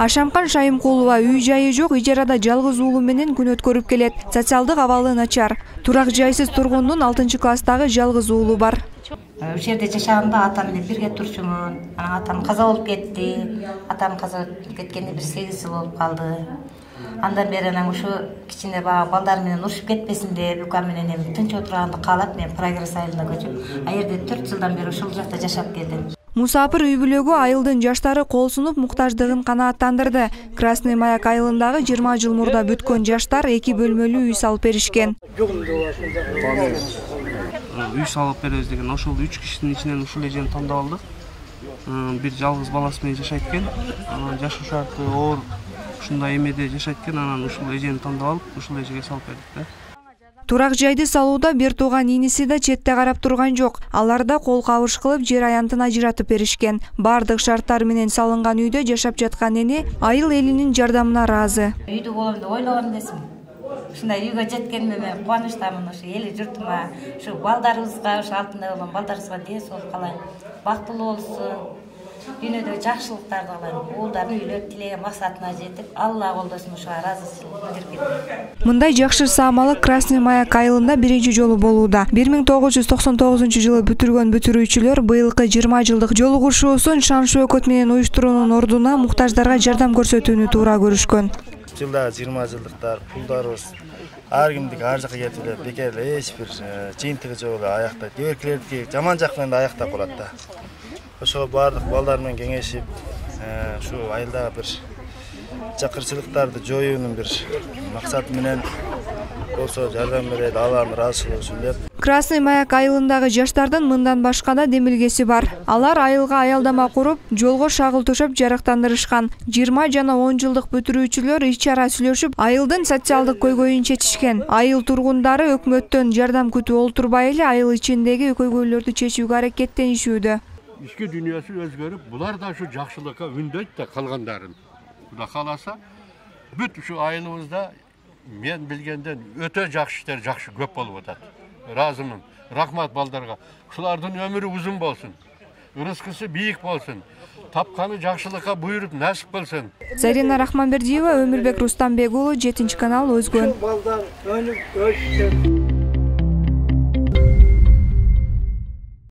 Ашамкан Шайымкулова үй жайы жок, ижарада жалгыз уулу менен күн өткөрүп келет. Социалдык абалы начар. Турак жайсыз тургундун 6-класстагы жалгыз уулу бар. Ошол жерде жашаганда атам менен бирге турчумун. Атам каза болуп кетти. Атам каза болуп кеткенде 8 жыл болуп калды. Андан бери ушу кичине балдар менен урушуп кетпесин деп, укам менен эми тынч отурганды каалап, мен Прогресс айылына көчүп, а жерде 4 жылдан бери ушул жакта жашап келдим. Мусапыр үй бүлөгү айылдын жаштары кол сунуп муктаждыгын канааттандырды. Красный Маяк айылындагы 20 жыл мурда бүткөн жаштар 2 бөлмөлүү үй салып беришкен. Үй салып беребиз деген ошол 3 кишинин ичинен ушул эжени тандап алдык. Бир жалгыз баласы менен жашайт экен. Анан жашоо шарты оор ушундай эмеде жашайт экен. Анан ушул эжени тандап алып, ушул эжеге салып бердик да. Турак жайды салууда бир тууган иниси да четте карап турган жок. Алар да кол кабыш кылып жер аянтын ажыратып беришкен. Бардык шарттар менен салынган үйдө жашап жаткан эне айыл элинин жардамына ыраазы. Үйдү болом деп ойлогон эмесмин. Ушундай үйгө жеткениме мен кубанычтамын. Ушу эли журтума, ушу балдарыбызга, ушу алтында болгон балдарыбызга дес болуп калайын. Бактылуу болсун. Дүйнөдө жакшылыктарды кылайын. Уулдарын үйлөп тилеген максатына жетип, Алла колдосун ушуга ыраазычылык билдирip. Мындай жакшы саамалык Красный Маяк айылында биринчи жолу болууда. 1999-жылы бүтүргөн бүтүрүүчүлөр быйылкы 20 жылдык жолугушуусун шан шөөкөт менен уюштуруунун ордуна муктаждарга жардам көрсөтүүнү туура көрүшкөн. Жылда 20 жылдыктар пулдарыбыз ар кимдики ар жака кетип эле бекер эч бир жыйынтыгы жок эле аяктайт. Кээ жаман жак менен да аяктап калат да. Ошол бардык балдар менен кеңешип, ушу айылдагы бир жакырчылыктарды жоюунун бир максаты менен болсо жардам берет, алардын ыраазычылыгы үчүн деп. Красный Маяк айылындагы жаштардын мындан башка да демилгеси бар. Алар айылга аялдама куруп, жолго шагыл төшөп жарыктандырышкан. 20 жана 10 жылдык бүтүрүүчүлөр ич-чара сүйлөшүп, айылдын социалдык көйгөйүн чечишкен. Айыл тургундары өкмөттөн жардам күтүп олтурбай эле айыл ичиндеги көйгөйлөрдү чечүүгө аракеттенишүүдө. Ички дүйнөсү өзгөрүп, булар да ушу жакшылыкка үндөйт да калгандарын. Кудай кааласа, бүт ушу айылыбызда мен билгенден өтө жакшы иштер жакшы көп болуп атат. Ыраазымын. Рахмат балдарга. Ушулардын өмүрү узун болсун. Рызкысы бийик болсун. Тапканы жакшылыкка буйруп насип болсун. Зарина Рахманбердиева, Өмүрбек Рустамбек уулу, 7 канал, Өзгөн.